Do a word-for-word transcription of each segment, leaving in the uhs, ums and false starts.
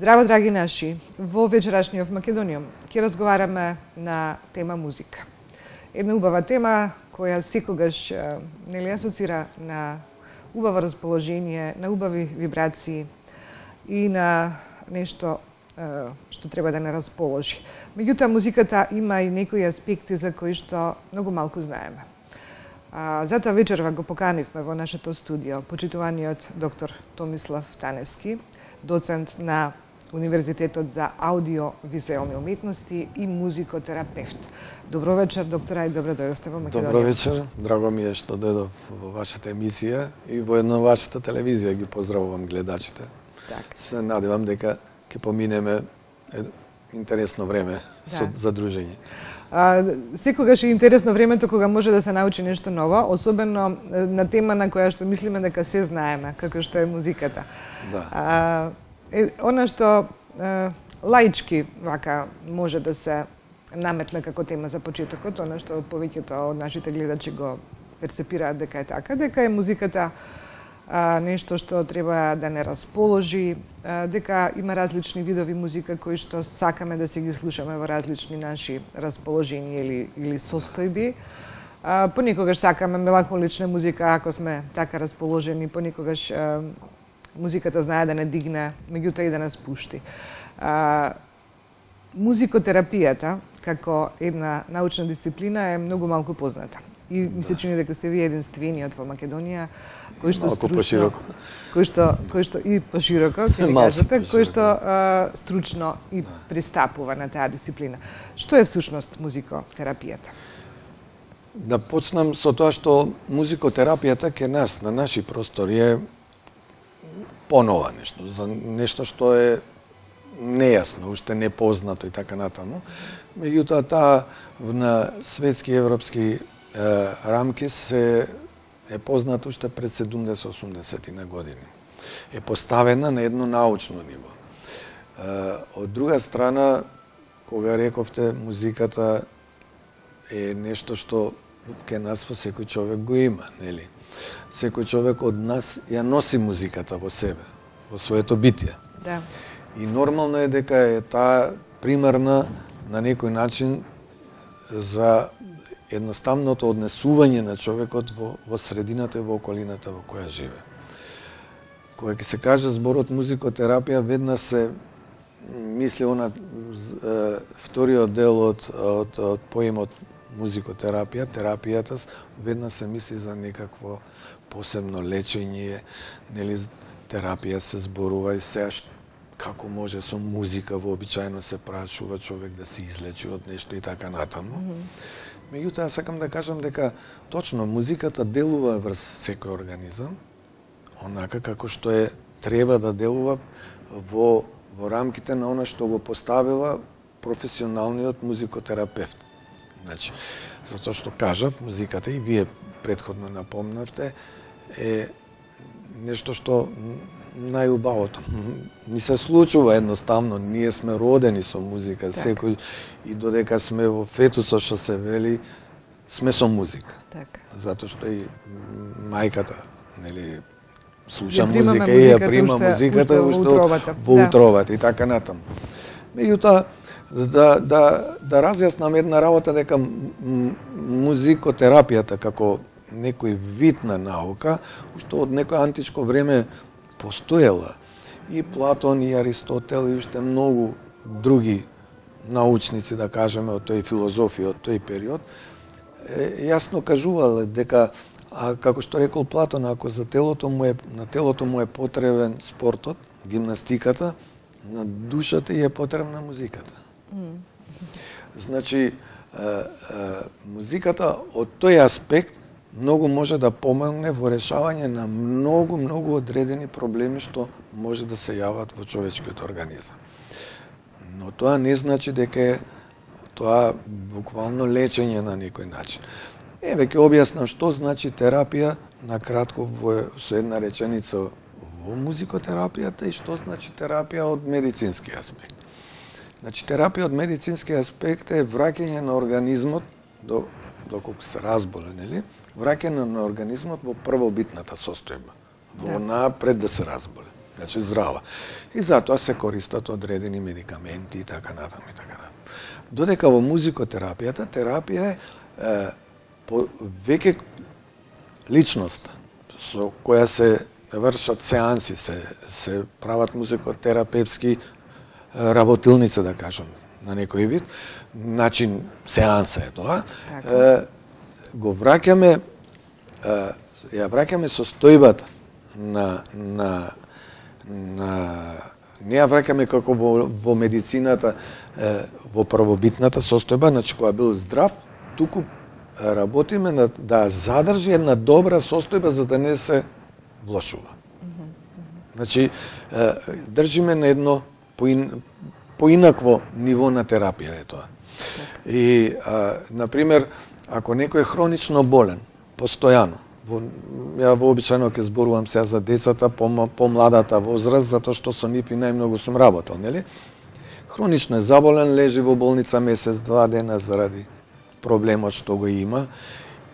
Здраво, драги наши! Во вечерашниот Македониум ќе разговараме на тема музика. Една убава тема која секогаш нели асоцира на убаво расположение, на убави вибрации и на нешто што треба да не расположи. Меѓутоа, музиката има и некои аспекти за кои што многу малку знаеме. А, затоа вечерва го поканивме во нашето студио почитуваниот доктор Томислав Таневски, доцент на Универзитетот за аудио-визуелни уметности и музикотерапевт. Добро вечер, доктора, и добро дојдовте во Македонија. Добро вечер, драго ми е што дојдов во вашата емисија и во една вашата телевизија. Ги поздравувам гледачите. Так. Се надевам дека ќе поминеме интересно време да. со задружење. А, секогаш е интересно времето кога може да се научи нешто ново, особено на тема на која што мислиме дека се знаеме, како што е музиката. Да. А, е, она што е, лаички вака може да се наметне како тема за почетокот, она што повеќето од нашите гледачи го перцепираат дека е така, дека е музиката а, нешто што треба да не расположи, а, дека има различни видови музика кои што сакаме да се ги слушаме во различни наши расположени или, или состојби. А, понекогаш сакаме меланхолична музика ако сме така расположени, понекогаш а, музиката знае да не дигне, меѓутоа и да не спушти. А, музикотерапијата како една научна дисциплина е многу малку позната. И ми се чини дека сте вие единствениот во Македонија кој што малку стручно, пошироко. кој што кој што и пошироко, ќе ми кажете, кој што а, стручно и пристапува на таа дисциплина. Што е всушност музикотерапијата? Да почнам со тоа што музикотерапијата ке нас на наши простори е понова нешто, за нешто што е нејасно, уште непознато и така натаму. Меѓутоа, таа на светски и европски е, рамки се е познато уште пред седумдесет-осумдесет на години. Е поставена на едно научно ниво. Е, од друга страна, кога рековте, музиката е нешто што ке нас во секој човек го има, нели? Секој човек од нас ја носи музиката во себе, во своето битие. Да. И нормално е дека е таа примерна на некој начин за едноставното однесување на човекот во, во средината и во околината во која живе. Кога ќе се каже зборот музикотерапија, веднаш се мисли она вториот дел од, од, од поемот музикотерапија, терапијата, веднаш се мисли за некакво посебно лечење, нели терапија се зборува и сега како може со музика вообичаено се прашува човек да се излечи од нешто и така натаму. Mm -hmm. Меѓутоа, сакам да кажам дека точно музиката делува врз секој организам, онака како што е треба да делува во, во рамките на она што го поставила професионалниот музикотерапевт. Значи, затоа што кажав, музиката и вие претходно напомнавте, е нешто што најубавото. Ни се случува едноставно, ние сме родени со музика, так. Секој и додека сме во фетусот што се вели, сме со музика. Так. Затоа што и мајката, нели, слуша ја музика и ја прима уште, музиката уште во утробата, во да. утробата и така натаму. Меѓутоа, да да да разјаснам една работа дека музикотерапијата како некој вид на наука, уште од некој античко време постоела. И Платон, и Аристотел, и уште многу други научници, да кажеме, од тој филозофија, од тој период, е, јасно кажувале дека, а, како што рекол Платон, ако за телото му е, на телото му е потребен спортот, гимнастиката, на душата и е потребна музиката. Mm. Значи, е, е, музиката од тој аспект многу може да помогне во решавање на многу, многу одредени проблеми што може да се јават во човечкиот организам. Но тоа не значи дека е тоа буквално лечење на некој начин. Еве ќе објаснам што значи терапија на кратко во, со една реченица во музикотерапијата и што значи терапија од медицински аспект. Значи, терапија од медицински аспект е враќање на организмот до доколку се разболе, нели? Враќање на организмот во првобитната состојба, во онаа пред да се разболе. значи здрава. И затоа се користат одредени медикаменти и така натаму и така натаму. Додека во музикотерапијата, терапија е, е по, веќе личност со која се вршат сеанси, се, се прават музикотерапевски работилница, да кажам, на некој вид, начин сеанса е тоа. Е, го враќаме, е, ја враќаме состојбата на, на, на не ја враќаме како во, во медицината, е, во првобитната состојба, значи која бил здрав, туку работиме на, да задржи една добра состојба за да не се влошува. Значи, држиме на едно поин, поинакво ниво на терапија е тоа. И, а, например, ако некој е хронично болен, постојано, во, ја вообичајно ќе зборувам сега за децата, по, помладата возраст, затоа што со нив и најмногу сум работел, нели? Хронично е заболен, лежи во болница месец, два дена заради проблемот што го има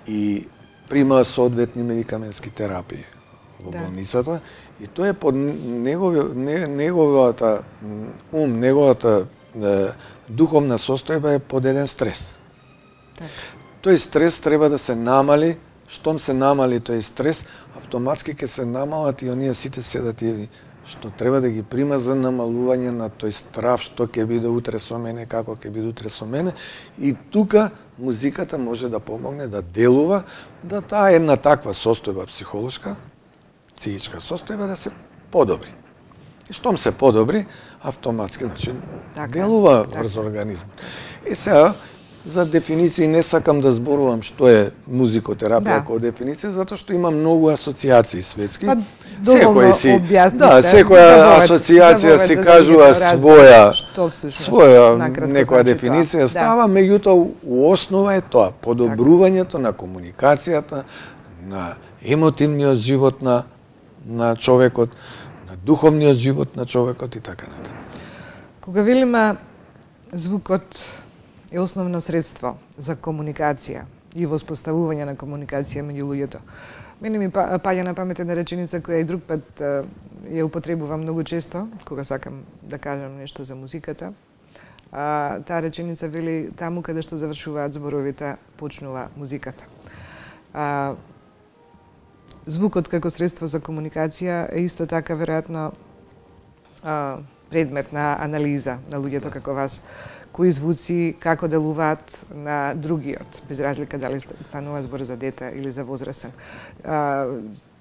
и прима соодветни медикаментски терапии во болницата, и тоа е под негови, неговата ум, неговата е, духовна состојба е под еден стрес. Так. Тој стрес треба да се намали, штом се намали тој стрес, автоматски ќе се намалат и оние сите седативи што треба да ги прима за намалување на тој страв што ќе биде утре со мене, како ќе биде утре со мене, и тука музиката може да помогне да делува, да таа една таква состојба психолошка, психичка состојба да се подобри. И штом се подобри, автоматски начин така, делува така. Врз организмот. И сега, за дефиниции не сакам да зборувам што е музикотерапија да. Како дефиниција, затоа што има многу асоциации светски. Па, секој си, да, секоја асоциација си кажува да своја, своја некоја значи дефиниција тоа. Става, да. Меѓутоа у основа е тоа, подобрувањето на комуникацијата, на емотивниот живот на на човекот, на духовниот живот на човекот и така натаму. Кога велиме звукот е основно средство за комуникација и воспоставување на комуникација меѓу луѓето. Мене ми паѓа на памет една реченица која и друг пат ја употребувам многу често, кога сакам да кажам нешто за музиката. А, таа реченица вели: таму каде што завршуваат зборовите, почнува музиката. А, звукот како средство за комуникација е исто така веројатно предмет на анализа на луѓето како вас. Кои звуци како делуваат на другиот, без разлика дали станува збор за дете или за возрасен. А,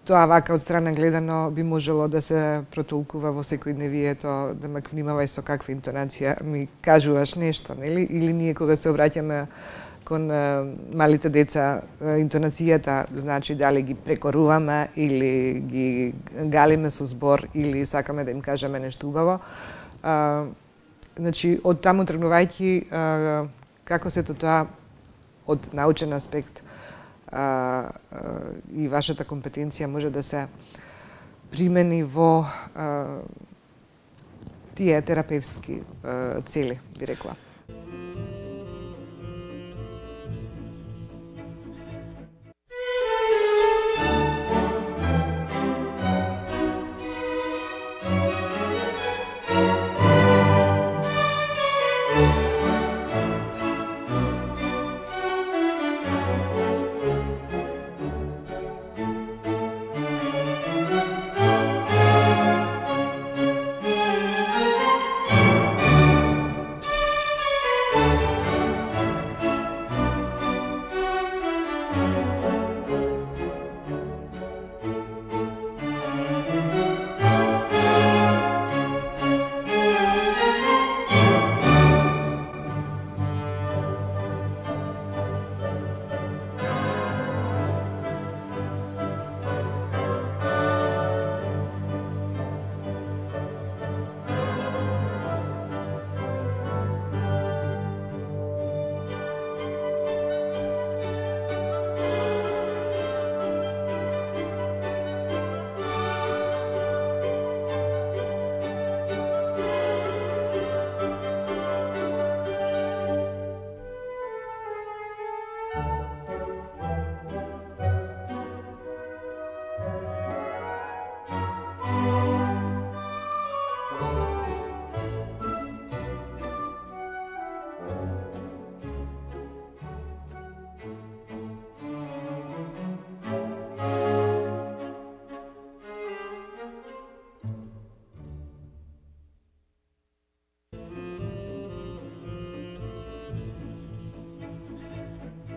тоа вака од страна гледано би можело да се протолкува во секојдневието, да ме внимавај со каква интонација ми кажуваш нешто, нели? Или ние кога се обраќаме кон а, малите деца, а, интонацијата значи дали ги прекоруваме или ги галиме со збор или сакаме да им кажеме нешто убаво. А, Значи, од таму тргнувајќи, како сето тоа од научен аспект а, а, и вашата компетенција може да се примени во а, тие терапевски а, цели, би рекла.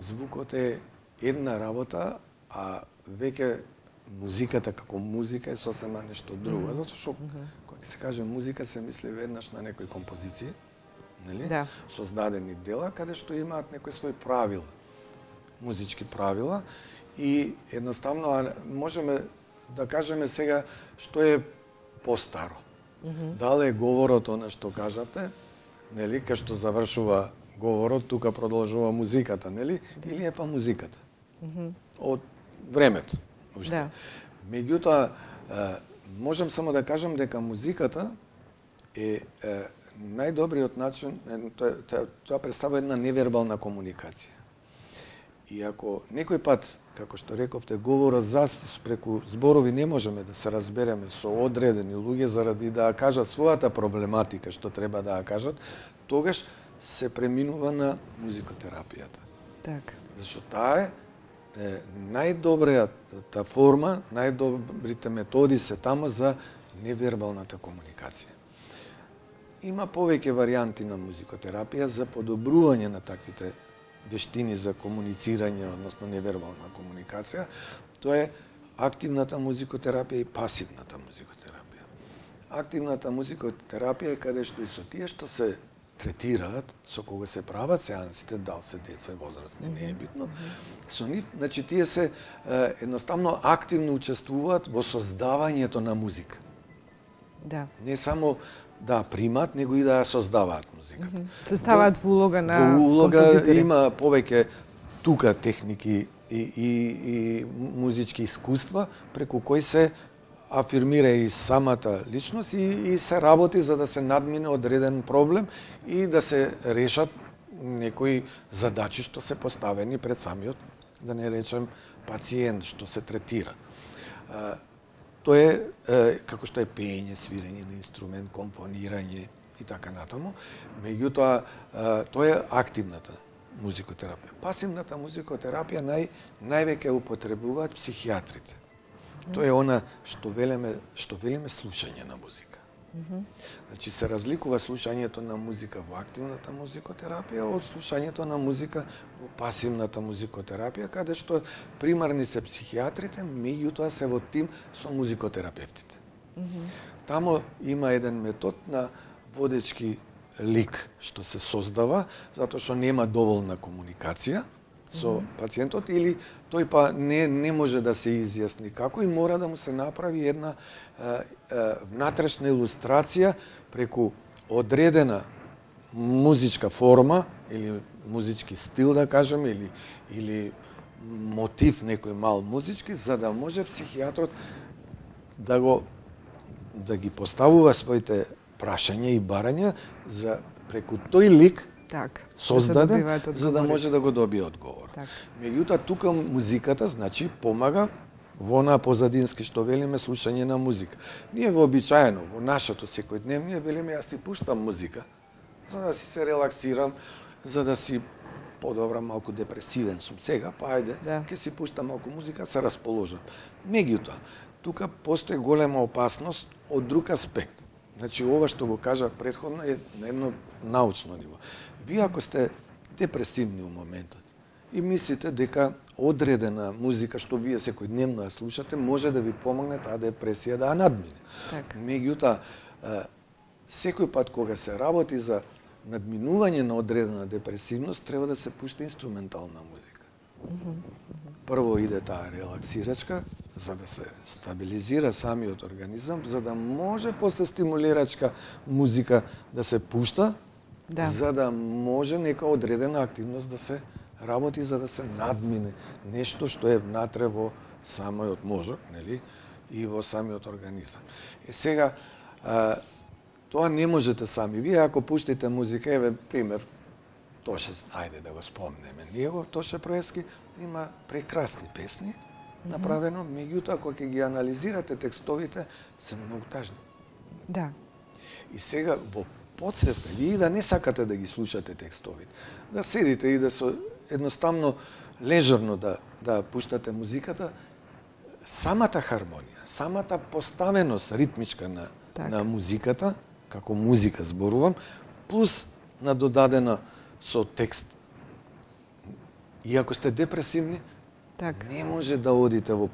звукот е една работа, а веќе музиката како музика е сосема нешто друго, mm -hmm. затоа што mm -hmm. кога се каже музика се мисли веднаш на некои композиции, нели? Да. Создадени дела каде што имаат некои своји правила, музички правила и едноставно можеме да кажеме сега што е постаро. Mm -hmm. Дали е говорот она што кажавте, нели, кај што завршува говорот, тука продолжува музиката, нели? Или е па музиката? Mm -hmm. Од времето. Да. Меѓутоа, можам само да кажам дека музиката е, е најдобриот начин, тоа, тоа, тоа представува една невербална комуникација. И ако некој пат, како што рековте, говорот за преку зборови не можеме да се разбереме со одредени луѓе заради да кажат својата проблематика што треба да ја кажат, тогаш се преминува на музикотерапијата. Така. Зашто таа е најдобрата форма, најдобрите методи се тамо за невербалната комуникација. Има повеќе варијанти на музикотерапија за подобрување на таквите вештини за комуницирање, односно невербална комуникација. Тоа е активната музикотерапија и пасивната музикотерапија. Активната музикотерапија е каде што и со тие што се третираат, со кога се прават сеансите, дал се деца и возрастни, не е битно. Со нив, значи тие се е, едноставно активно учествуваат во создавањето на музика. Да. Не само да примат, него и да ја создаваат музиката. Mm -hmm. Се ставаат во улога на композитори. Во улога композитори. Има повеќе тука техники и, и, и музички искуства преку кои се афирмира и самата личност и, и се работи за да се надмине одреден проблем и да се решат некои задачи што се поставени пред самиот, да не речем, пациент што се третира. А, тоа е, е како што е пеење, свирење на инструмент, компонирање и така натаму. Меѓутоа, тоа е активната музикотерапија. Пасивната музикотерапија нај, највеќе употребуваат психијатрите. Тоа е она што велиме, што велиме слушање на музика. Mm -hmm. Значи се разликува слушањето на музика во активната музикотерапија од слушањето на музика во пасивната музикотерапија, каде што примарни се психијатрите, меѓутоа се во тим со музикотерапевтите. Mm -hmm. Тамо има еден метод на водечки лик што се создава, затоа што нема доволна комуникација со mm -hmm. пациентот или тој па не не може да се изјасни како и мора да му се направи една е, е, внатрешна илустрација преку одредена музичка форма или музички стил да кажеме или или мотив некој мал музички за да може психијатрот да го да ги поставува своите прашања и барања за преку тој лик так, создаден, да за да може да го добие одговор. Так. Меѓутоа, тука музиката, значи, помага во онаа позадински што велиме слушање на музика. Ние вообичаено, во нашето секојдневие, велиме, јас си пуштам музика, за да си се релаксирам, за да си подобра, малку депресивен сум сега, па ајде, да. Ке си пуштам малку музика, се расположам. Меѓутоа, тука постои голема опасност од друг аспект. Значи, ова што го кажа претходно е на едно научно ниво. Вие ако сте депресивни у моментот и мислите дека одредена музика што вие секојдневно ја слушате може да ви помогне таа депресија да ја надмине. Так. Меѓутоа, секој пат кога се работи за надминување на одредена депресивност, треба да се пушта инструментална музика. Mm -hmm. Прво иде таа релаксирачка, за да се стабилизира самиот организам, за да може после стимулирачка музика да се пушта, да. За да може нека одредена активност да се работи, за да се надмине нешто што е внатре во самиот мозок, нели, и во самиот организам. Е сега, а, тоа не можете сами. Вие ако пуштите музика, еве пример, Тоше, ајде да го спомнеме, ние го Тоше Проевски има прекрасни песни, mm -hmm. направено, меѓутоа кога ќе ги анализирате текстовите, се многу тажни. Да. И сега во подсвеста, вие да не сакате да ги слушате текстовите, да седите и да со едноставно лежерно да да пуштате музиката, самата хармонија, самата поставеност ритмичка на так. на музиката, како музика зборувам, плюс на додадена со текст И ако сте депресивни, Так. не може да одите во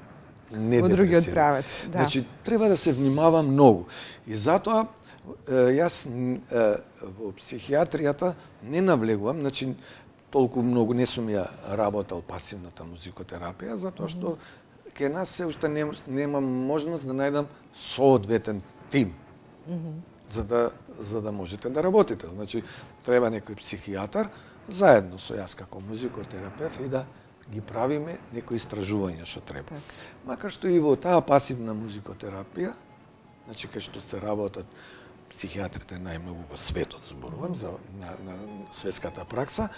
недепресивни. Во другиот правец, да. Значи, треба да се внимава многу. И затоа, јас во психијатријата не навлегувам, значи, толку многу не сум ја работел пасивната музикотерапија, затоа што ке нас се уште не, немам можност да најдам соодветен тим. Mm -hmm. за да за да можете да работите. Значи, треба некој психијатар заедно со јас како музикотерапевт и да ги правиме некои истражувања што треба. Так. Макар што и во таа пасивна музикотерапија, значи кај што се работат психијатрите најмногу во светот, зборувам за на, на светската пракса,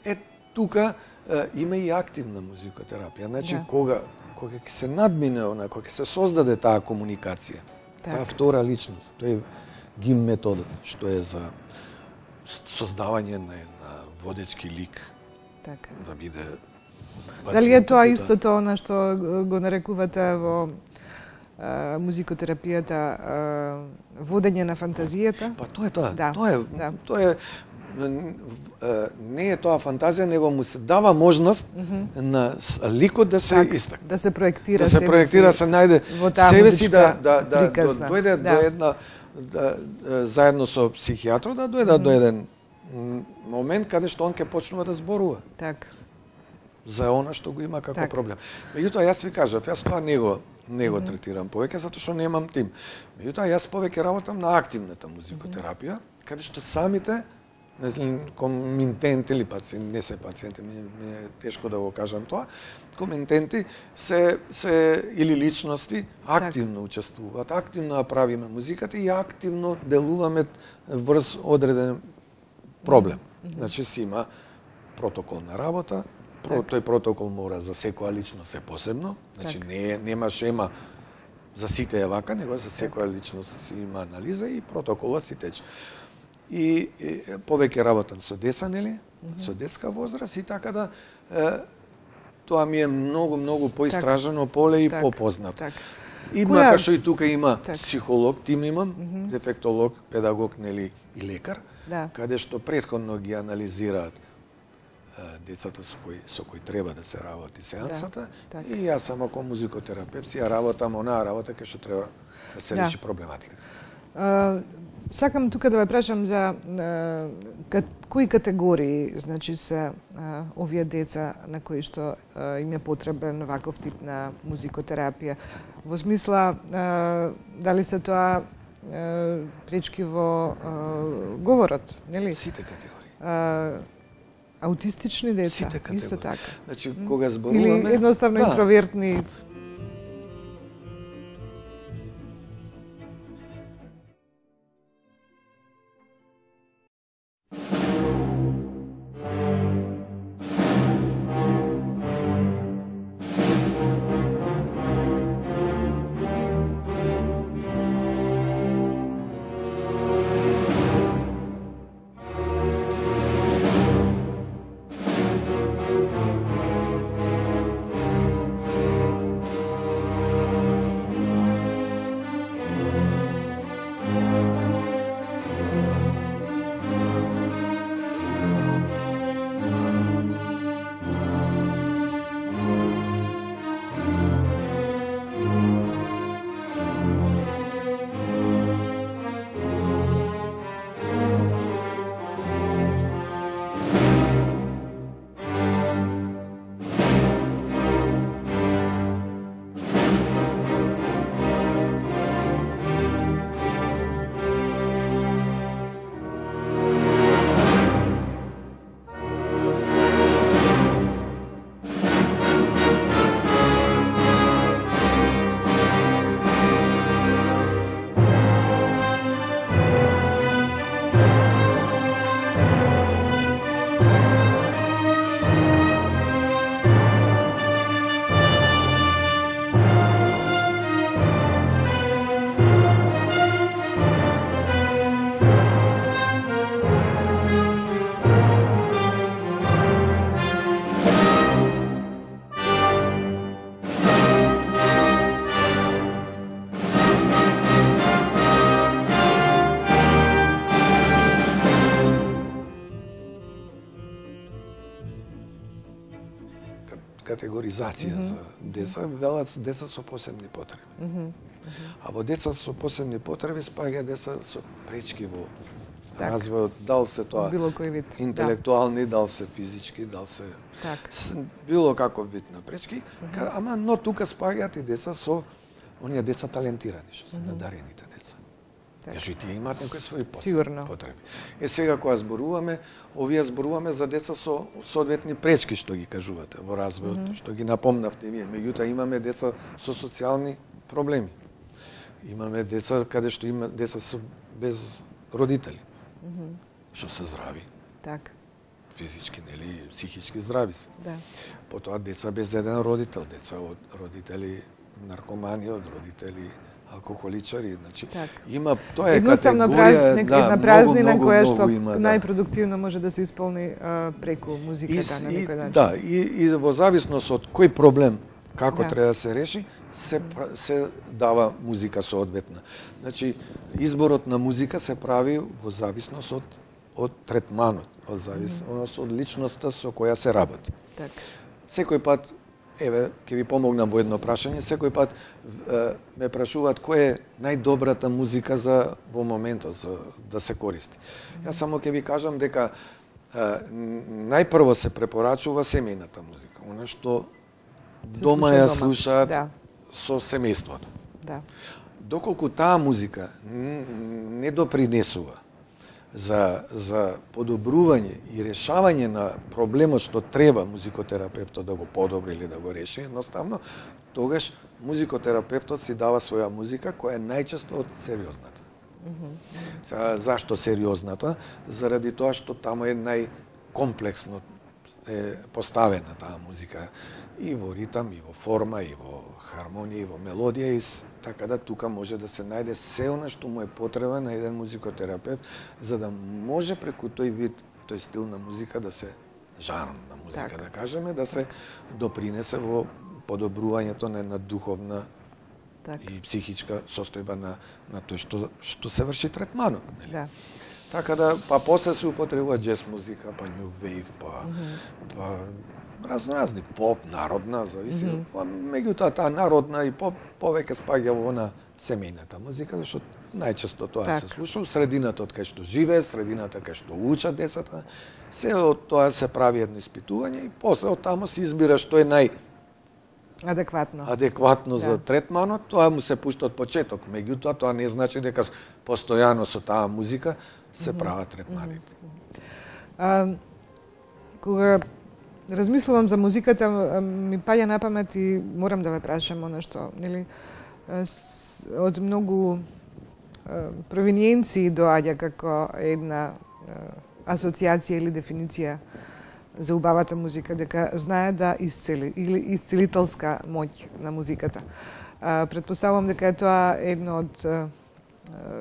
е тука е, има и активна музикотерапија. Значи да. кога кога ќе се надмине она, кога ќе се создаде таа комуникација, так. таа втора личност, тој гим методот што е за создавање на една водечки лик. Така. Да биде. Дали е тоа истото она што го нарекувате во а, музикотерапијата а, водење на фантазијата? Па тоа е тоа. Да. Тоа е, да. тоа е не е тоа фантазија, него му се дава можност mm -hmm. на ликот да се так, истакне. Да се проектира да се проектира, се најде себе си да да да дојде да. до една да, заедно со психијатрот да дојде mm -hmm. до еден момент каде што он ќе почнува да зборува. Так. За она што го има како так. проблем. Меѓутоа јас ви кажав, јас тоа не го не го третирам повеќе затоа што немам тим. Меѓутоа јас повеќе работам на активната музикотерапија, mm -hmm. каде што самите не знам, коминтенти или пациенти, не се пациенти, ми, ми е тешко да го кажам тоа, коминтенти се, се или личности активно так. учествуваат, активно правиме музиката и активно делуваме врз одреден проблем. Mm -hmm. Значи си има протокол на работа, так. тој протокол мора за секоја личност е посебно, значи так. не нема шема за сите е вака, него за секоја личност си има анализа и протоколот си тече. И, и повеќе работам со деца, нели? Mm -hmm. Со детска возраст и така да е, тоа ми е многу многу поистражено так. поле и так. попознато. Так. И Која... макар што и тука има так. психолог, тим имам, mm -hmm. дефектолог, педагог, нели, и лекар, да. каде што претходно ги анализираат е, децата со кои со кои треба да се работи сеансата, да. и јас само како музикотерапевт си ја работам онаа работа кај што треба да се да. реши проблематиката. Uh... Сакам тука да ве прашам за а, кои категории, значи се а, овие деца на кои што а, им е потребен ваков тип на музикотерапија. Во смисла а, дали се тоа а, пречки во а, говорот, нели? Сите категории. А, аутистични деца, Сите категории. Исто така. Значи кога зборуваме или едноставно да. интровертни. категоризација mm -hmm. за деца, велат деца со посебни потреби. Mm -hmm. А во деца со посебни потреби спаѓа деца со пречки во так. развојот, дал се тоа било кој вид, интелектуални, да. дал се физички, дал се так. с, било каков вид на пречки, mm -hmm. ама но тука спаѓаат и деца со оние деца талентирани, што се mm -hmm. надарените деца. Значи, тие имаат некои своји посебни потреби. Е, сега кога зборуваме, овие зборуваме за деца со соодветни пречки, што ги кажувате во развојот, mm -hmm. што ги напомнавте вие. Меѓутоа, имаме деца со социјални проблеми. Имаме деца каде што има деца со без родители, mm -hmm. што се здрави. Так. Физички, нели, психички здрави се. Да. Потоа деца без еден родител, деца од родители наркомани, од родители алкохоличари, значи так. има тоа е едноставно категорија, праз, да, една празнина многу, која многу, што има, да. најпродуктивно може да се исполни а, преку музиката и, на некој начин. Да, и, и во зависност од кој проблем како да. треба да се реши, се се дава музика соодветна. Значи изборот на музика се прави во зависност од од третманот, од зависност mm -hmm. од личноста со која се работи. Так. Секој пат, еве, ќе ви помогнам во едно прашање, секој пат е, ме прашуваат која е најдобрата музика за во моментот за да се користи. Mm -hmm. Јас само ќе ви кажам дека е, најпрво се препорачува семејната музика, она што се дома ја слушаат да. со семејството. Да. Доколку таа музика не допринесува за за подобрување и решавање на проблемот што треба музикотерапевтот да го подобри или да го реши, едноставно, тогаш музикотерапевтот си дава своја музика која е најчесто од сериозната. Mm -hmm. Сега, зашто сериозната? Заради тоа што таму е најкомплексно е поставена таа музика и во ритам, и во форма, и во хармонија, и во мелодија, и така да тука може да се најде се она што му е потреба на еден музикотерапевт, за да може преку тој вид, тој стил на музика да се, жанр на музика так. да кажеме, да се допринесе во подобрувањето на една духовна так. и психичка состојба на, на тој што, што се врши третманот. Нели? Да. Така да, па после се употребува джез музика, па new wave, па, mm -hmm. па разноразни, поп, народна, зависи. Mm -hmm. Меѓутоа, таа народна и поп повеќе спаѓа во на семејната музика, зашто најчесто тоа так. се слуша, средината од кај што живее, средината кај што учат децата, се од тоа се прави едно испитување и после од таму се избира што е нај адекватно. Адекватно да. за третманот, тоа му се пушта од почеток. Меѓутоа, тоа не значи дека постојано со таа музика се mm -hmm. прават третманите. Mm -hmm. а, кога размислувам за музиката, ми паѓа на памет и морам да ве прашам она што, нели, од многу провиниенции доаѓа како една асоциација или дефиниција за убавата музика, дека знае да исцели, или исцелителска моќ на музиката. Предпоставувам дека е тоа едно од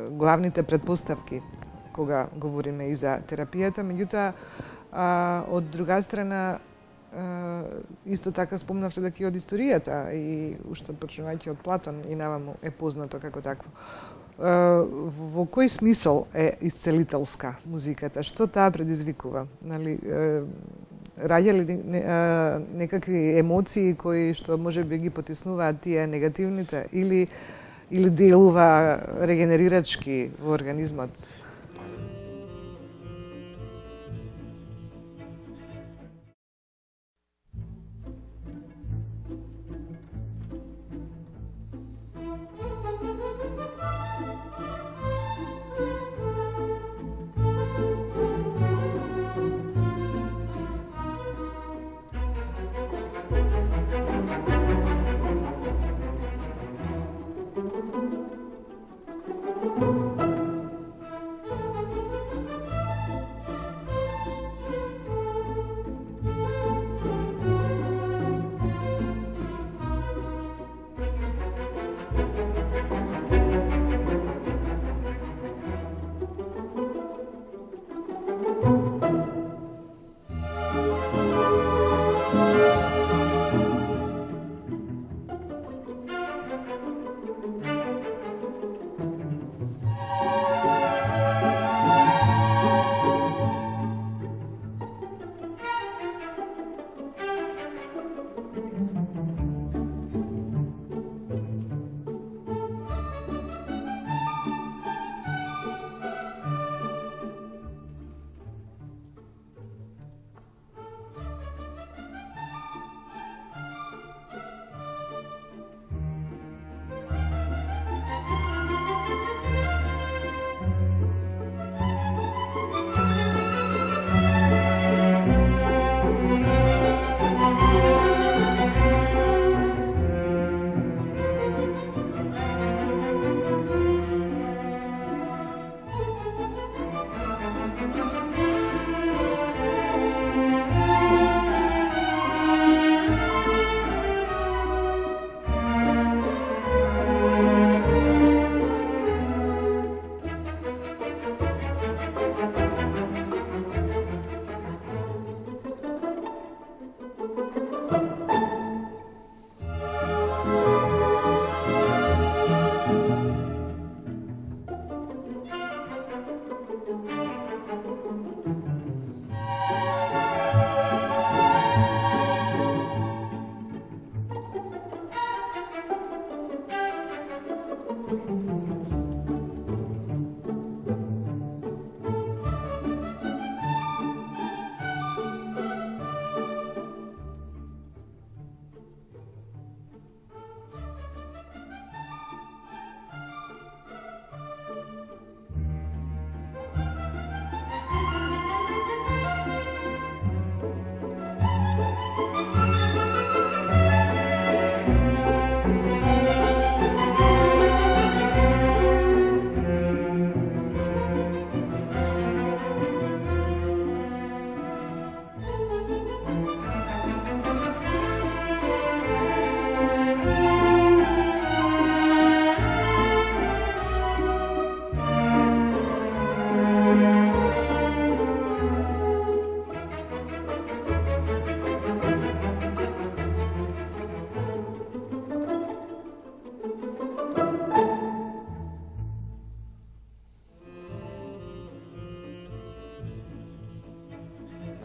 главните предпоставки кога говориме и за терапијата, меѓутоа, од друга страна, исто така спомнавте дека и од историјата и уште почнувајќи од Платон и наваму е познато како такво. Во кој смисол е исцелителска музиката? Што таа предизвикува? Нали, раѓа ли некакви емоции кои што можеби ги потиснуваат тие негативните или или делува регенерирачки во организмот?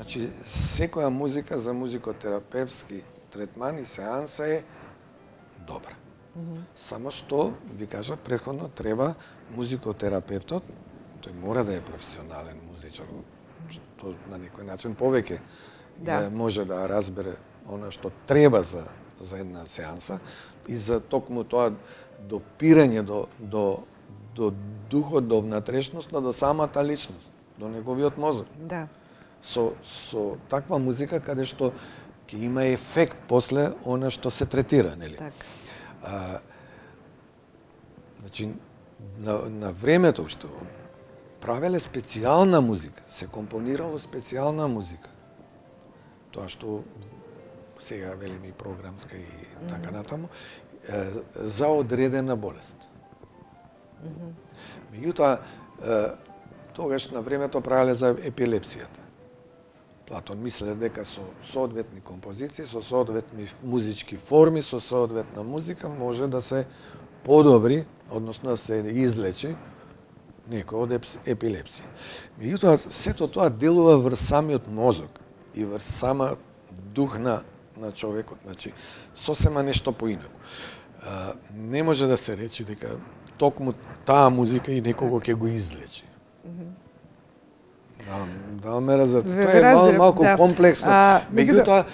Значи, секоја музика за музикотерапевски третман и сеанса е добра. Mm -hmm. Само што, ви кажа, претходно треба музикотерапевтот, тој мора да е професионален музичар, што на некој начин повеќе да. може да разбере она што треба за, за една сеанса и за токму тоа допирање до, до, до духот, до внатрешноста, до самата личност, до неговиот мозок. Да. Со, со таква музика каде што ќе има ефект после она што се третира, нели? Так. А, значи, на, на времето што правеле специјална музика, се компонирало специјална музика. Тоа што сега велиме и програмска и така натаму, е, за одредена болест. Mm -hmm. Меѓутоа, тогаш на времето правеле за епилепсијата. Платон мисле дека со соодветни композиции, со соодветни музички форми, со соодветна музика може да се подобри, односно да се излечи некој од епилепсија. Меѓутоа, сето тоа делува врз самиот мозок и врз сама дух на, на човекот. Значи, сосема нешто поинаку. Не може да се рече дека токму таа музика и некого ќе го излечи. Да, да ме разберете. Тоа е мал, малку да. комплексно. Меѓутоа,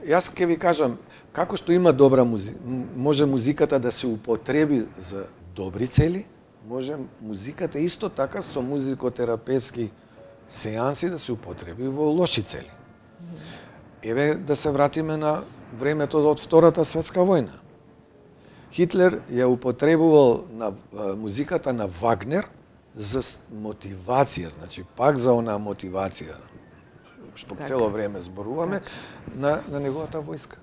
јас ќе ви кажам, како што има добра музика, може музиката да се употреби за добри цели, може музиката исто така со музикотерапевски сеанси да се употреби во лоши цели. Еве да се вратиме на времето од Втората светска војна. Хитлер ја употребувал на музиката на Вагнер за мотивација, значи пак за онаа мотивација што так. цело време зборуваме так. на на неговата војска.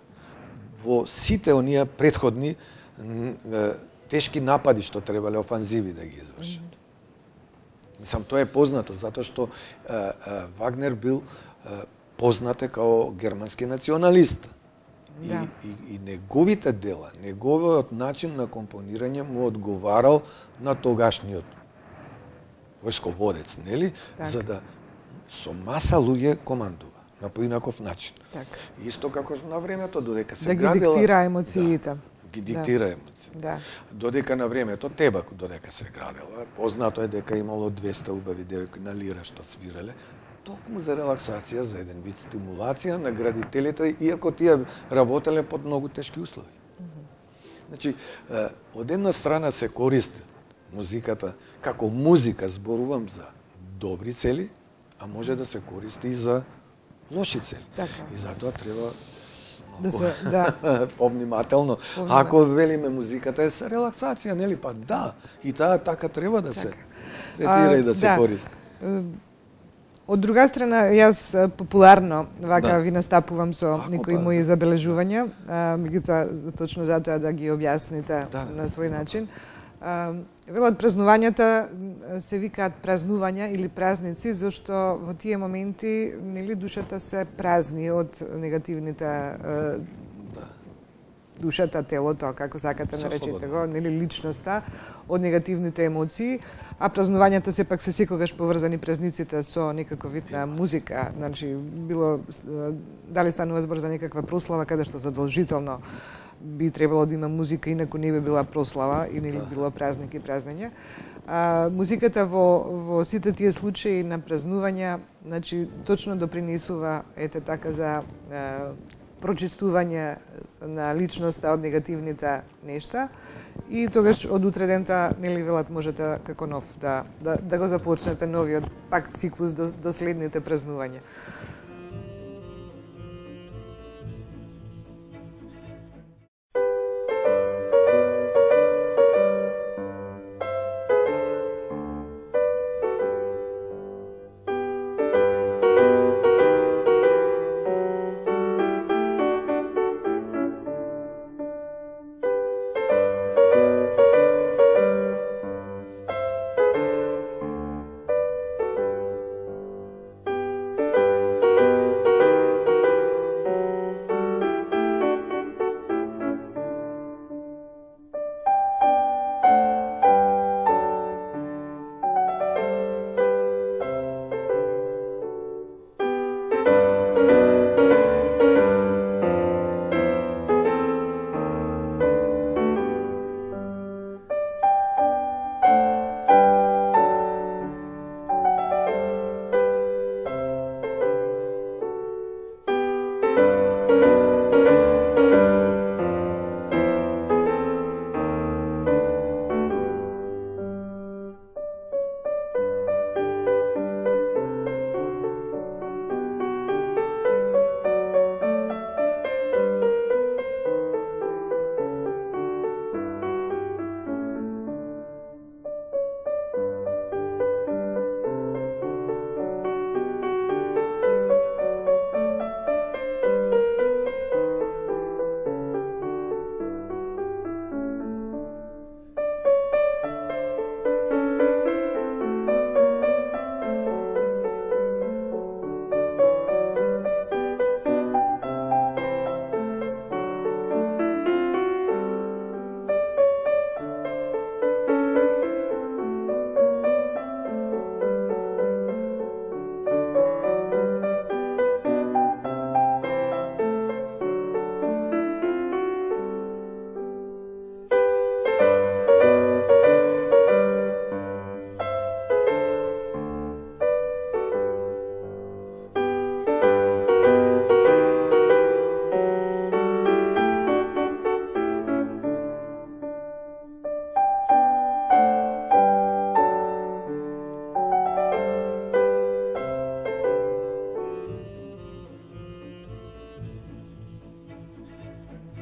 Во сите оние претходни тешки напади што требале офанзиви да ги извршат. Mm -hmm. Мислам, тоа е познато затоа што е, е, Вагнер бил е, познат е као германски националист. Да. И, и, и неговите дела, неговиот начин на компонирање му одговарал на тогашниот војсководец, нели? Так. За да со маса луѓе командува на поинаков начин. Так. Исто како на времето додека се да градела... Да ги диктира емоциите. Да, ги диктира да. емоции. Да. Додека на времето Тебак додека се градела, познато е дека имало двеста убави девојки на лира што свиреле, токму за релаксација, за еден вид стимулација на градителите, иако тие работеле под многу тешки услови. Mm -hmm. Значи, од една страна се користи музиката, како музика зборувам за добри цели, а може да се користи и за лоши цели. Така. И затоа треба да се да повнимателно. Ако велиме музиката е за релаксација, нели па да, и таа така треба да се така. третира а, и да се да. користи. Од друга страна, јас популарно вака да. ви настапувам со Ако некои па, мои забележувања, меѓутоа точно затоа да ги објасните да, на свој начин. Велат празнувањата се викаат празнувања или празници, зашто во тие моменти нели душата се празни од негативните да. душата, телото, како сакате наречете го, нели личноста, од негативните емоции, а празнувањата сепак се секогаш поврзани празниците со некаков вид на музика, значи било дали станува збор за некаква прослава каде што задолжително би требало да има музика, инаку не би била прослава и не би било празник и празнење. А, музиката во, во сите тие случаи на празнувања, значи, точно допринесува, ете така, за а, прочистување на личноста од негативните нешта и тогаш од утре дента, нели велат, можете како нов да, да, да го започнете новиот пак циклус до, до следните празнувања.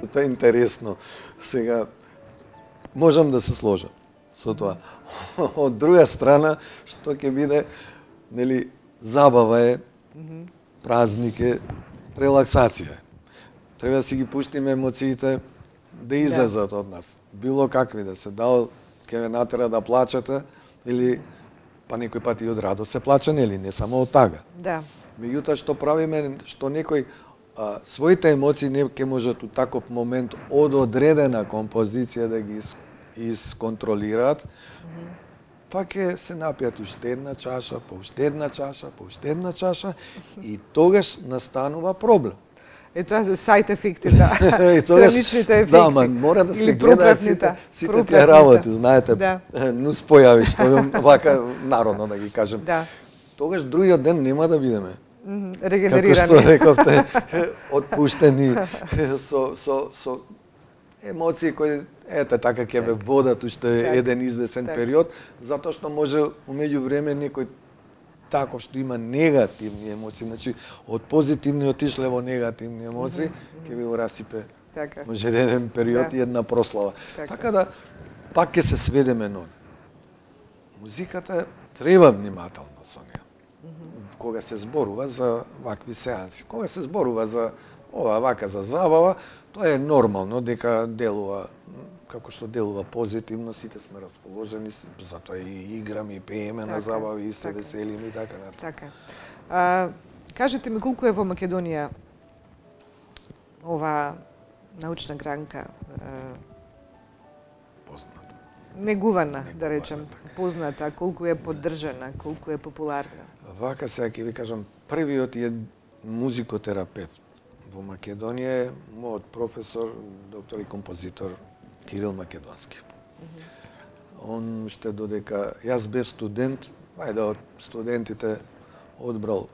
Тоа е интересно. Сега, можам да се сложам со тоа. Од друга страна, што ќе биде, нели, забава е, празник е, релаксација е. Треба да си ги пуштиме емоциите да излезат од нас. Било какви да се, дал ќе ве натера да плачете или па некој пат и од радост се плаче, нели, не само од тага. Да. Меѓутоа што правиме, што некој а, своите емоции не ќе можат у таков момент од одредена композиција да ги исконтролираат, mm-hmm. па ќе се напијат уште една чаша, по уште една чаша, по уште една чаша и тогаш настанува проблем. Е тоа се сайт ефекти, да. Страничните ефекти. Да, ма мора да се гледаат сите, сите тие работи, знаете, да. Нус појави, што вака народно да ги кажем. Да. Тогаш другиот ден нема да бидеме. Регенерирани. Како што рековте, отпуштени со, со, со емоции кои, ете, така ќе ве водат уште так. еден извесен так. период, затоа што може умеѓу време некој таков што има негативни емоции, значи од позитивни отишле во негативни емоции, mm-hmm. ќе ви го расипе така. Може еден период да. и една прослава. Така. така да, пак ќе се сведеме на музиката треба внимателно со неја. Mm-hmm. Кога се зборува за вакви сеанси, кога се зборува за ова вака за забава, тоа е нормално дека делува како што делува позитивно, сите сме расположени, затоа и играме, и пееме така, на забави, и се така. веселиме и така натаму. Така. А, кажете ми колку е во Македонија ова научна гранка позната. Негувана, Негувана да речем, така. позната, колку е поддржана, колку е популарна. Вака сега ќе ви кажам, првиот е музикотерапевт во Македонија е мојот професор, доктор и композитор Кирил Македонски. Mm-hmm. Он уште додека јас бев студент, ајде од студентите одбрал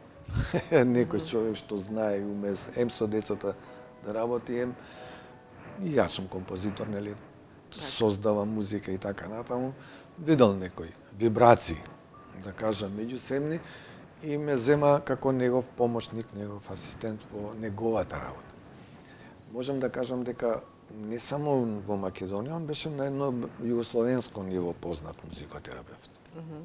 некој човек што знае и уме ем со децата да работи, ем и јас сум композитор, нели, создавам музика и така натаму, видел некој вибрации, да кажам, меѓусебни и ме зема како негов помошник, негов асистент во неговата работа. Можам да кажам дека не само во Македонија, он беше на едно југословенско ниво познат музикотерапевт. Mm-hmm.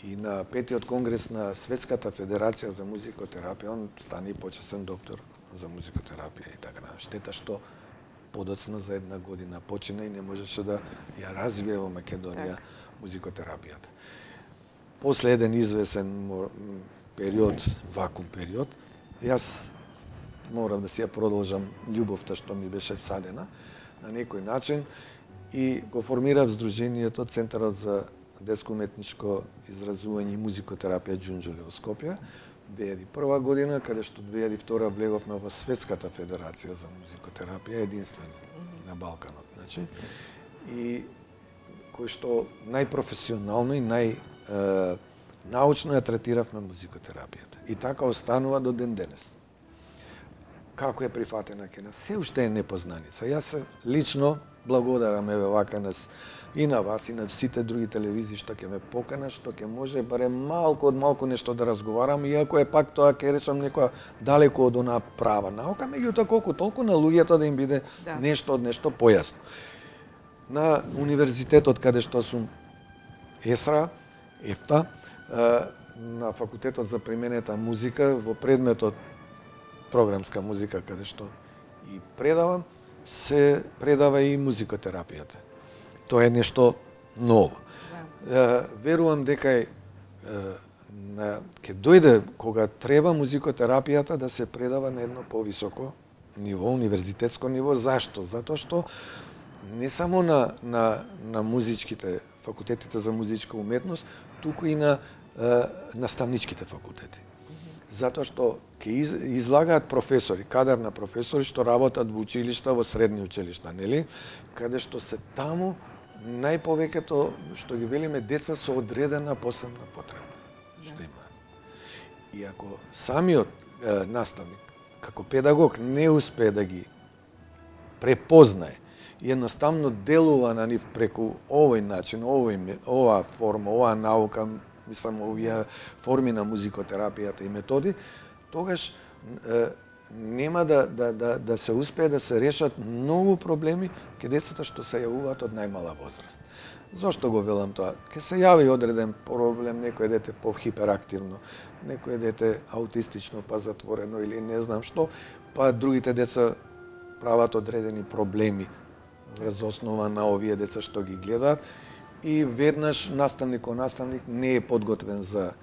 И на петиот конгрес на Светската федерација за музикотерапија, он стана и почесен доктор за музикотерапија и така натаму. Штета што подоцна за една година почина и не можеше да ја развие во Македонија так. музикотерапијата. После еден извесен период, вакуум период, јас морав да си ја продолжам љубовта што ми беше всадена на некој начин и го формирав Сдруженијето Центарот за детско-уметничко изразување и музикотерапија Џунџуле во Скопје две илјади и прва година, каде што две илјади и втора влеговме во Светската федерација за музикотерапија, единствена на Балканот, значи, и кој што најпрофесионално и нај е, научно ја третиравме музикотерапијата. И така останува до ден денес. Како е прифатена ке нас? Се уште е непознаница. Јас се лично благодарам еве вака нас и на вас и на сите други телевизии што ќе ме покана, што ќе може барем малку од малку нешто да разговарам, иако е пак тоа ќе речам некоја далеко од онаа права наука, меѓутоа колку толку на луѓето да им биде да. нешто од нешто појасно. На универзитетот каде што сум ЕСРА, ЕФТА, на факултетот за применета музика во предметот програмска музика каде што и предавам, се предава и музикотерапијата. Тоа е нешто ново. Да. Верувам дека е, на, ќе дојде кога треба музикотерапијата да се предава на едно повисоко ниво, универзитетско ниво. Зашто? Затоа што не само на, на, на музичките факултетите за музичка уметност, туку и на е, наставничките факултети. Затоа што ќе из, излагаат професори, кадар на професори што работат во училишта, во средни училишта, нели? Каде што се таму најповеќето што ги велиме деца со одредена посебна потреба што има. И ако самиот е, наставник како педагог не успее да ги препознае и едноставно делува на нив преку овој начин, овој оваа форма, оваа наука, мислам овие форми на музикотерапијата и методи, тогаш е, нема да, да, да, да се успее да се решат многу проблеми ке децата што се јавуваат од најмала возраст. Зошто го велам тоа? Ке се јави одреден проблем, некој дете по-хиперактивно, некој дете аутистично па затворено или не знам што, па другите деца прават одредени проблеми врз основа на овие деца што ги гледаат и веднаш наставник наставник не е подготвен за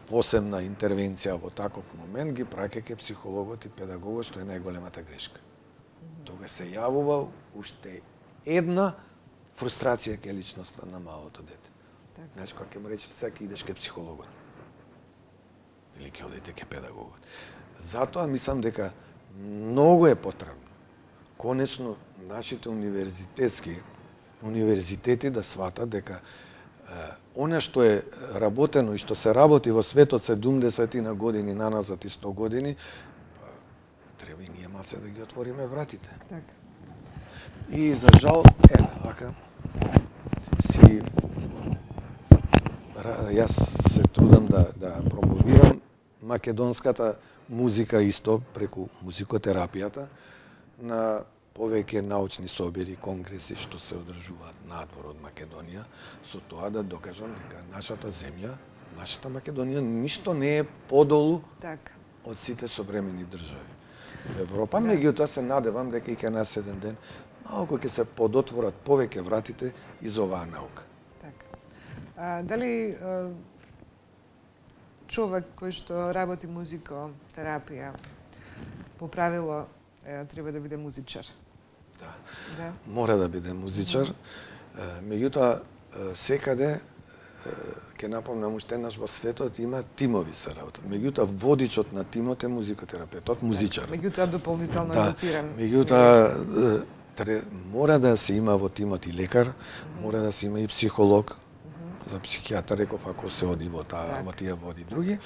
посебна интервенција во таков момент, ги праќа ке психологот и педагогот, што е најголемата грешка. Тога се јавува уште една фрустрација ке личноста на малото дете. Так. Значи, кога ќе му речете сега ќе идеш ке психологот или ќе одите ке педагогот. Затоа мислам дека многу е потребно конечно нашите универзитетски универзитети да сватат дека она што е работено и што се работи во светот седумдесети на години наназад и сто години, треба и ние малце да ги отвориме вратите. Така. И за жал, е, вака, си, јас се трудам да, да промовирам македонската музика исто преку музикотерапијата на повеќе научни собери, конгреси што се одржуваат надвор од Македонија, со тоа да докажам дека нашата земја, нашата Македонија ништо не е подолу Так. од сите современи држави. В Европа, да. Меѓутоа се надевам дека и кај нас еден ден малку ќе се подотворат повеќе вратите из оваа наука. Така. А, дали а, човек кој што работи музикотерапија по правило е, треба да биде музичар? Да. Да. Мора да биде музичар. Меѓутоа секаде ќе напомнам уште еднаш во светот има тимови се работат. Меѓутоа водичот на тимот е музикотерапевтот, музичар. Меѓутоа дополнително да. едуциран. Меѓутоа мора да се има во тимот и лекар, мора да се има и психолог. За психијатар реков ако се оди во таа, во тие води други,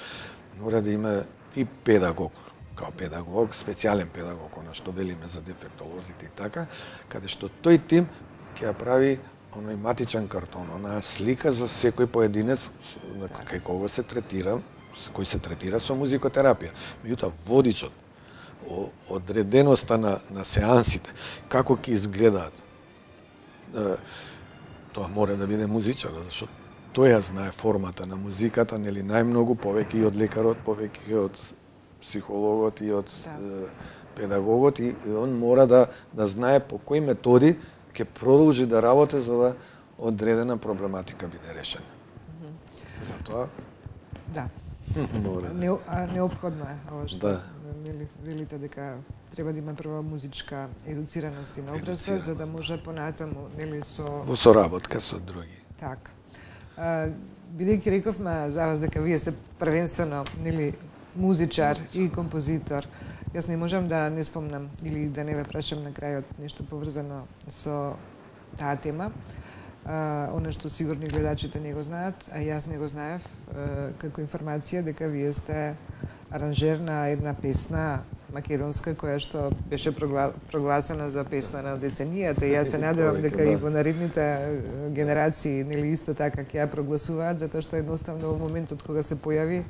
мора да има и педагог. Као педагог, специјален педагог, она што велиме за дефектолозите и така, каде што тој тим ќе ја прави оној матичен картон, онаа слика за секој поединец кај кого се третира, кој се третира со музикотерапија. Меѓутоа водичот, одреденоста на, на сеансите, како ќе изгледаат, тоа мора да биде музичар, зашто тој ја знае формата на музиката, нели најмногу, повеќе и од лекарот, повеќе и од психологот и од да. педагогот, и он мора да, да знае по кои методи ќе продолжи да работи за да одредена проблематика биде решена. Mm -hmm. Затоа да. Мора. Не, а, необходно е ова што да. нели велите дека треба да има прва музичка едуцираност и наобразба за да може понатаму нели со во соработка со други. Така. Бидејќи рековме за вас дека вие сте првенствено нели музичар и композитор, јас не можам да не спомнам или да не ве прашам на крајот нешто поврзано со таа тема. Uh, оно што сигурно гледачите не го знаат, а јас не го знаев, uh, како информација дека вие сте аранжер на една песна македонска која што беше прогла... прогласена за песна на деценијата. Јас се надевам дека и во наредните генерации нели исто така ќе ја прогласуваат, затоа што едноставно во моментот кога се појави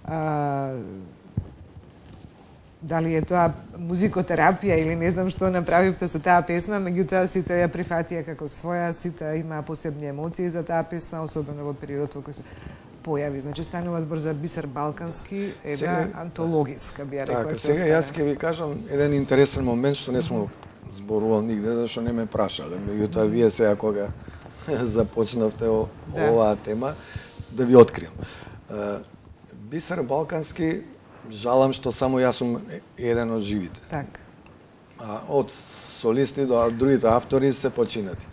а, дали е тоа музикотерапија или не знам што направивте со таа песна, меѓутоа сите ја прифатија како своја, сите имаа посебни емоции за таа песна, особено во периодот во кој се појави. Значи станува збор за Бисер Балкански, една сега, антологиска би ја рекла. Така, сега јас ќе ви кажам еден интересен момент што не сме зборувал нигде, зашто не ме прашале. Меѓутоа вие сега кога започнавте о, да. оваа тема, да ви откриам. Бисер Балкански, жалам што само јас сум еден од живите. Так. А од солисти до другите автори се починати.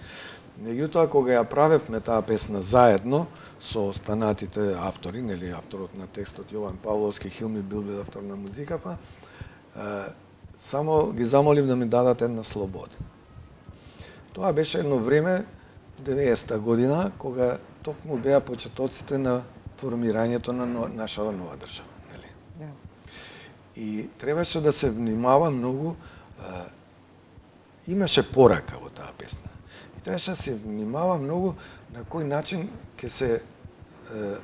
Меѓутоа, кога ја правевме таа песна заедно со останатите автори, нели авторот на текстот Јован Павловски, Хилми Билбил, автор на музиката, само ги замолив да ми дадат една слобода. Тоа беше едно време, деветдесета година, кога токму беа почетоците на формирањето на нашата нова држава. И требаше да се внимава многу, а, имаше порака во таа песна. И требаше да се внимава многу на кој начин ќе се а,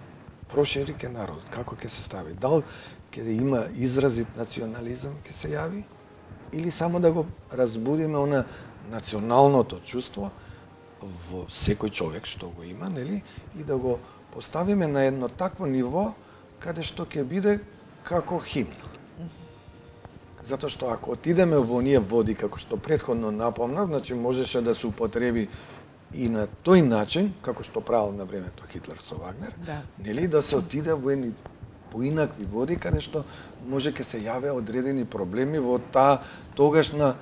прошири ке народот, како ќе се стави. Дал ќе има изразит национализам, ќе се јави, или само да го разбудиме она националното чувство во секој човек што го има, нели, и да го поставиме на едно такво ниво каде што ќе биде како химна. Затоа што ако отидеме во оние води, како што претходно напомнав, значи можеше да се употреби и на тој начин, како што правил на времето Хитлер со Вагнер, да, нели, да се отиде во едни поинакви води, каде што може ке се јавеа одредени проблеми во таа тогашна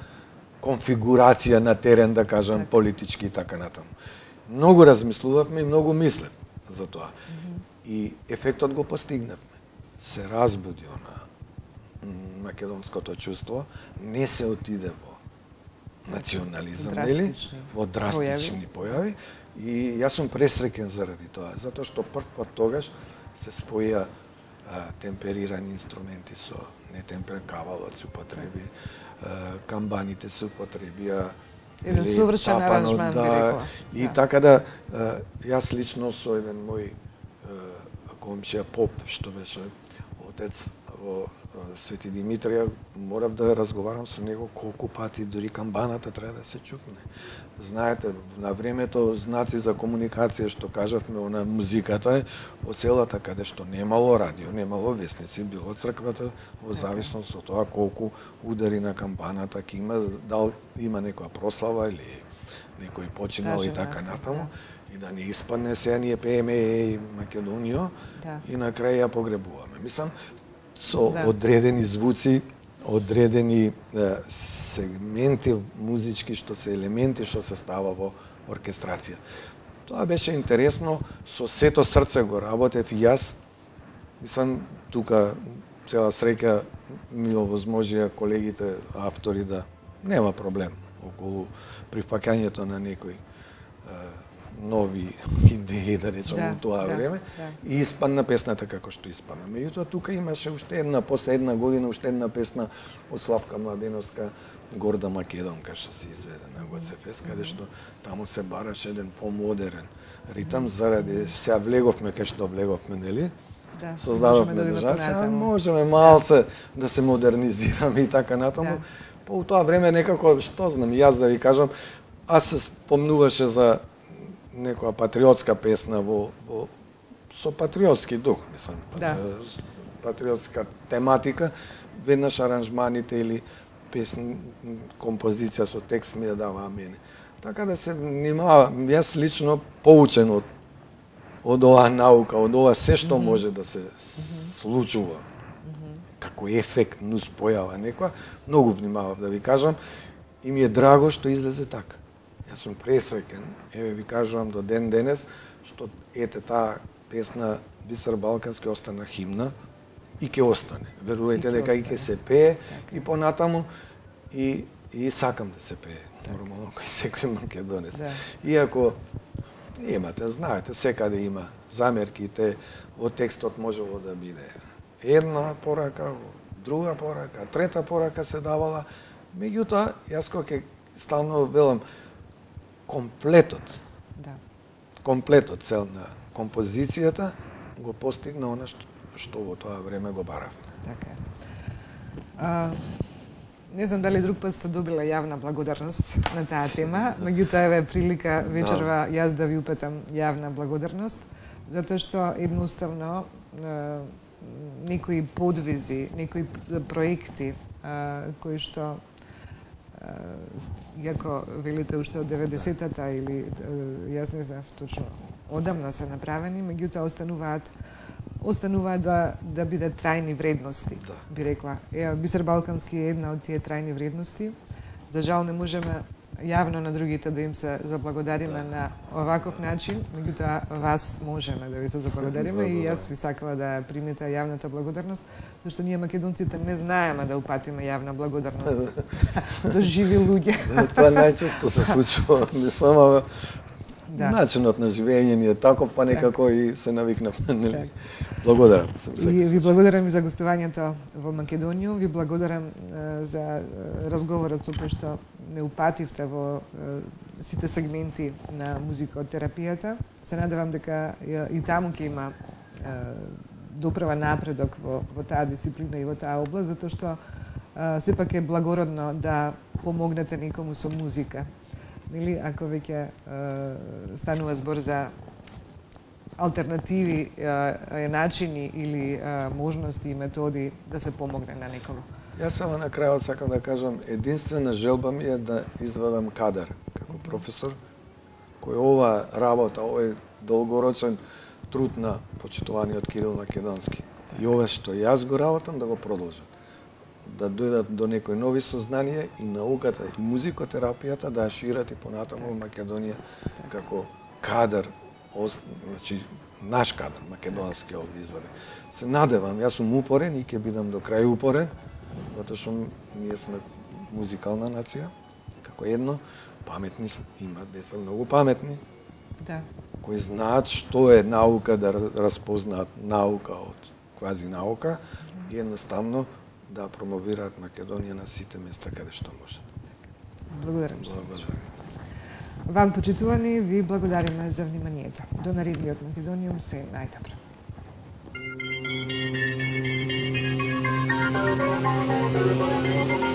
конфигурација на терен, да кажам, так, политички и така натаму. Многу размислувавме и многу мислем за тоа. Mm -hmm. И ефектот го постигнавме. Се разбуди она македонското чувство, не се отиде во национализам, нели? Во драстични појави. И јас сум пресреќен заради тоа, затоа што прв пат тогаш се споја а, темперирани инструменти со нетемпер кавалот се употреби, а, камбаните се употребија, еден совршен аранжман, да, би рекла. И да. така да, а, јас лично со еден мој комшија поп, што беше отец во Свети Димитрија, морав да разговарам со него колку пати, дури камбаната треба да се чукне. Знаете, на времето знаци за комуникација, што кажавме, она музиката е во селата каде што немало радио, немало весници, било црквата, во зависност од тоа колку удари на камбаната ќе има, дал има некоја прослава или некој починал и така натаму. Да. И да не испадне сега ние пееме еј Македонијо, да, и на крај ја погребуваме. Мислам, со да, одредени звуци, одредени е, сегменти музички, што се елементи што се става во оркестрација. Тоа беше интересно, со сето срце го работев и јас. Мислам, тука цела среќа ми овозможија колегите автори да нема проблем околу прифаќањето на некои нови идеи, да речем, да, во тоа да, време, да, и испадна песната како што испадна. Меѓутоа, тука имаше уште една, после една година, уште една песна од Славка Младеновска, Горда Македонка, што се изведе на ГЦФЕС, каде што таму се бараше еден помодерен ритам, заради сега влеговме кај што влеговме, нели? Да, создававме да држава, сега можеме малце да, да се модернизираме и така натаму. Да. По тоа време некако, што знам, јас да ви кажам, аз се спомнуваше за некоја патриотска песна во, во со патриотски дух, мислам, да, патриотска тематика, веднаш аранжманите или песни, композиција со текст ми ја даваа мене. Така да се внимава, јас лично поучен од од оваа наука, од ова се што mm -hmm. може да се mm -hmm. случува, mm -hmm. како ефект, нус појава некоја, многу внимавав да ви кажам, и ми е драго што излезе така. Јас сум пресреќен, еве ви кажувам до ден денес, што ете таа песна Бисер Балкански остана химна и ќе остане. Верувајте дека и ќе се пее така, и понатаму и и сакам да се пее. Так. Нормално кој секој македонец. Да. Иако имате, знаете, секаде има замерките, во текстот можело да биде една порака, друга порака, трета порака се давала, меѓутоа јас кога ќе стално велам комплетот, да, комплетот цел на композицијата го постигна она што, што во тоа време го барав. Така е. А, не знам дали друг пат сте добила јавна благодарност на таа тема, меѓутоа еве прилика вечерва јас да ви упатам јавна благодарност, затоа што едноставно некои подвизи, некои проекти а, кои што иако велите уште од деветдесетата или јас не знам точно одамна се направени, меѓутоа остануваат остануваат да да бидат трајни вредности, да, би рекла. Е, Бисер Балкански е една од тие трајни вредности. За жал не можеме јавно на другите да им се заблагодариме, да, на оваков начин, меѓутоа вас можеме да ви се заблагодариме, да, да, и јас ви сакала да примете јавната благодарност, зашто ние македонците не знаеме да упатиме јавна благодарност до живи луѓе. Тоа најчесто се случува, не само да, начинот на живење ни е таков, па некако так, и се навикнавме, нели? Благодарам. И ви благодарам и за гостувањето во Македонија, ви благодарам е, за разговорот со кој што не упативте во е, сите сегменти на музикотерапијата. Се надевам дека е, и таму ќе има е, доправа напредок во, во таа дисциплина и во таа област, затоа што а, сепак е благородно да помогнете некому со музика. Нели, ако веќе станува збор за алтернативи, а, начини или а, можности и методи да се помогне на некого. Јас само на крајот сакам да кажам, единствена желба ми е да извадам кадар како професор, кој ова работа, овој долгорочен труд на почитуваниот Кирил Македонски и ова што јас го работам да го продолжат. Да дојдат до некои нови сознанија и науката и музикотерапијата да ја шират и понатаму во Македонија како кадар, значи наш кадар македонски овде изваде. Се надевам, јас сум упорен и ќе бидам до крај упорен, затоа што ние сме музикална нација, како едно, паметни сме, има деца многу паметни, да, кои знаат што е наука, да распознаат наука од квази наука и едноставно да промовираат Македонија на сите места каде што може. Благодарам што. Вам, почитувани, ви благодариме за вниманието. До наредниот Македониум, се најдобро. Thank you.